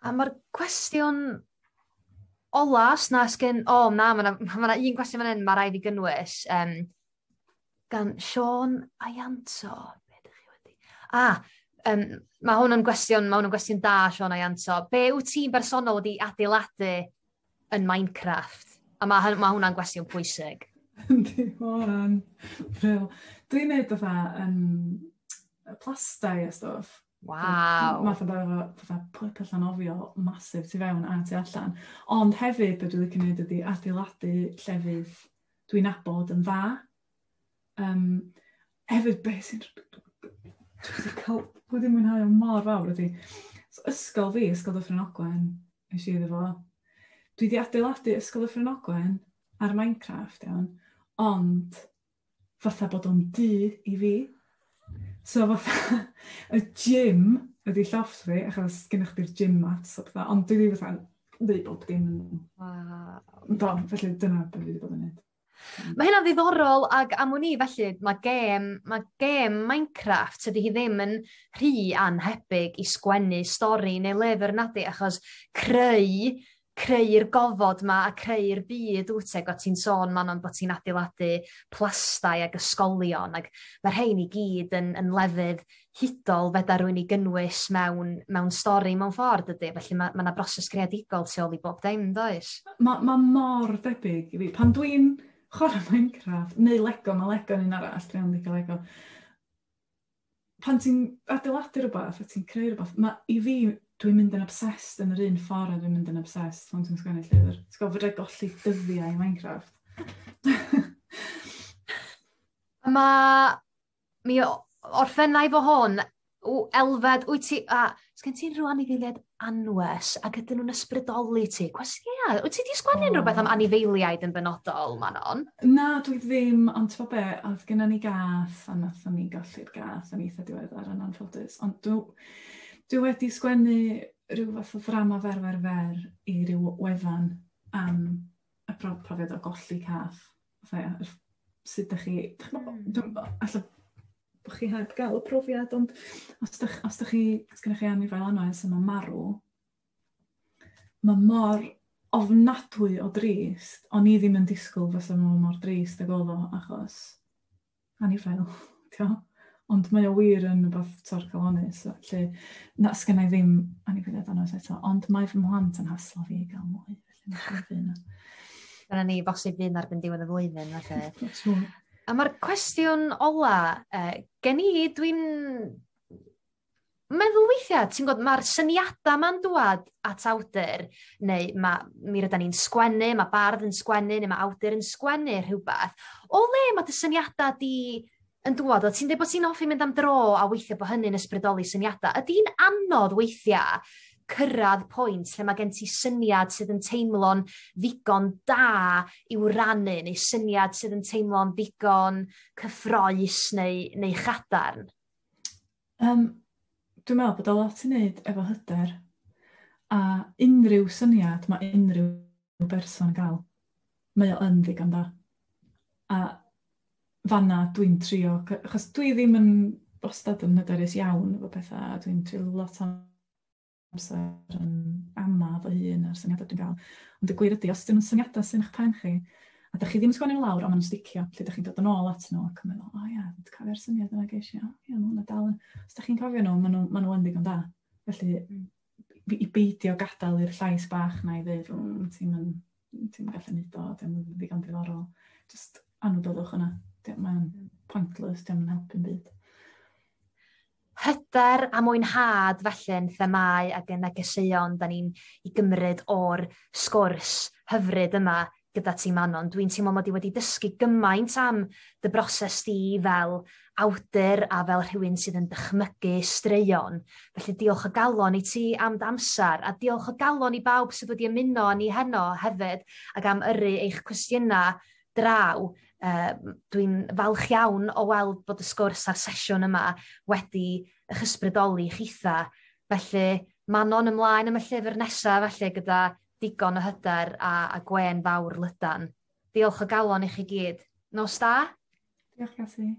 A mae'r cwestiwn ola, os na sgen... O, na, mae yna ma un cwestiwn fan hyn, mae rhaid i gynnwys. Um, gan Sean Ayanto. Be ydych chi wedi... Ah, um, mae hwn yn gwestiwn, mae hwn yn gwestiwn da, Sean Ayanto. Be wyt ti'n bersonol wedi adeiladu yn Minecraft? A mae, ma hwnna'n gwestiwn pwysig. Yndi, ma' hwnna'n brill. Dwi'n neud fatha um, plastai a stwff. Waw. Math o beth fatha pwll nofio massive tu fewn a tu allan. Ond hefyd, be dwi'n licio neud ydi adeiladu llefydd dwi'n nabod yn dda. Um, hefyd, be sy'n... Dwi wedi cael... Dwi wedi mwynhau o mor fawr ydi. So, ysgol fi, Ysgol Dyffryn Ogwen, nes i iddo fo. Dwi wedi adeiladu Ysgol Dyffryn Ogwen ar Minecraft, iawn, ond fatha bod o'n dŷ i fi. So fatha, y gym ydi llofft fi, achos gennych chdi'r gym mats a pethau, ond dwi wedi fatha dweud bob dim yn... Waw. Do, felly dyna beth dwi wedi bod yn neud. Mae hynna'n ddiddorol ac am wn i felly mae gêm, mae gêm Minecraft tydi hi ddim yn rhy anhebyg i sgwennu stori neu lyfr nadi, achos creu creu'r gofod ma a creu'r byd wyt ti, ac o ti'n sôn Manon bod ti'n adeiladu plastai ac ysgolion ac mae'r rhain i gyd yn, yn lefydd hudol fedar rywun i gynnwys mewn, mewn stori mewn ffordd ydy, felly mae ma 'na broses greadigol tu ôl i bob dim, does? Mae ma mor debyg i fi. Pan dwi'n chwarae Minecraft, neu Lego, mae Lego yn un arall, dwi'n licio Lego. Pan ti'n adeiladu rhywbeth a ti'n creu rhywbeth, ma, i fi, dwi'n mynd yn obsessed yn yr un ffordd a dwi'n mynd yn obsessed pan ti'n sgwennu llyfr. Ti'n gwybod, fedra i golli dyddiau i Minecraft. Mae... Mi orffennau fo hwn, w, Elfed, wyt ti... A, sgen ti unrhyw anifeiliaid anwes ac ydyn nhw'n ysbrydoli ti? Cwestiwn, ia, wyt ti 'di sgwennu unrhyw beth am anifeiliaid yn benodol, Manon? Na, dwi ddim, ond ti'n be, oedd gennym ni gath, a nathon ni golli'r gath yn eitha diweddar yn anffodus. Ond dwi, dwi wedi sgwennu rhyw fath o ddrama fer fer fer i ryw wefan am y profiad o golli cath. Fatha, sut ydych chi... Mm. Dwi'n, alla bod chi heb gael y profiad, ond os ydych, os ydych chi, os gennych chi anifail anwes yma marw, mae mor ofnadwy o drist, o'n i ddim yn disgwyl fysa fo mor drist ag oedd o, achos anifail, tio? Ond mae o wir yn rhywbeth torcalonnus, so, felly na, sgynna i ddim anifeiliaid anwes eto, ond mae fy mhlant yn haslo fi i gael mwy, felly mae'n siŵr fydd yna. Dyna ni, bosib fydd erbyn diwedd y flwyddyn, felly. Siŵr. A mae'r cwestiwn ola, uh, gen i, dwi'n meddwl weithiau, ti'n gwybod, mae'r syniadau ma'n dŵad at awdur, neu ma, mi rydan ni'n sgwennu, mae bardd yn sgwennu, neu mae awdur yn sgwennu rhywbeth. O le mae dy syniadau di yn dŵad? O ti'n dweud bod ti'n hoffi mynd am dro a weithiau bod hynny'n ysbrydoli syniadau. Ydy'n anodd weithiau cyrraedd pwynt lle mae gen ti syniad sydd yn teimlo'n ddigon da i'w rannu, neu syniad sydd yn teimlo'n ddigon cyffrous neu, neu chadarn? Um, dwi'n meddwl bod o lot i wneud efo hyder, a unrhyw syniad mae unrhyw berson yn gael, mae o yn ddigon da. A fanna dwi'n trio, achos dwi ddim yn wastad yn hyderus iawn efo pethau, a dwi'n trio lot o amser yn ama fy hun a'r syniadau dwi'n gael. Ond y gwir ydy, os dyn nhw'n syniadau sy'n eich pen chi, a dych chi ddim yn sgwennu nhw lawr, ond maen nhw'n sticio, lle dych chi'n dod yn ôl at nhw ac yn meddwl, o ia, dwi'n cofio'r syniad yna geis i, o ia, mae hwnna dal yn... Os dych chi'n cofio nhw, maen nhw, maen nhw yn ddigon da. Felly, i beidio gadael i'r llais bach na i ddeud, mm, ti'n mynd, ti'n gallu neud o, dim yn ddigon diddorol. Just anwybyddwch yna. Mae'n pointless, dim yn helpu'n byd. Hyder a mwynhad felly yn themau ac yn negeseuon da ni'n i gymryd o'r sgwrs hyfryd yma gyda ti, Manon. Dwi'n teimlo mod i wedi dysgu gymaint am dy broses di fel awdur a fel rhywun sydd yn dychmygu straeon. Felly diolch o galon i ti am dy amser, a diolch o galon i bawb sydd wedi ymuno â ni heno hefyd ac am yrru eich cwestiynau draw. Uh, dwi'n falch iawn o weld bod y sgwrs a'r sesiwn yma wedi eich ysbrydoli chitha. Felly Manon, ymlaen am y llyfr nesaf felly gyda digon o hyder a, a gwên fawr lydan. Diolch o galon i chi gyd. Nos da. Diolch, Casi.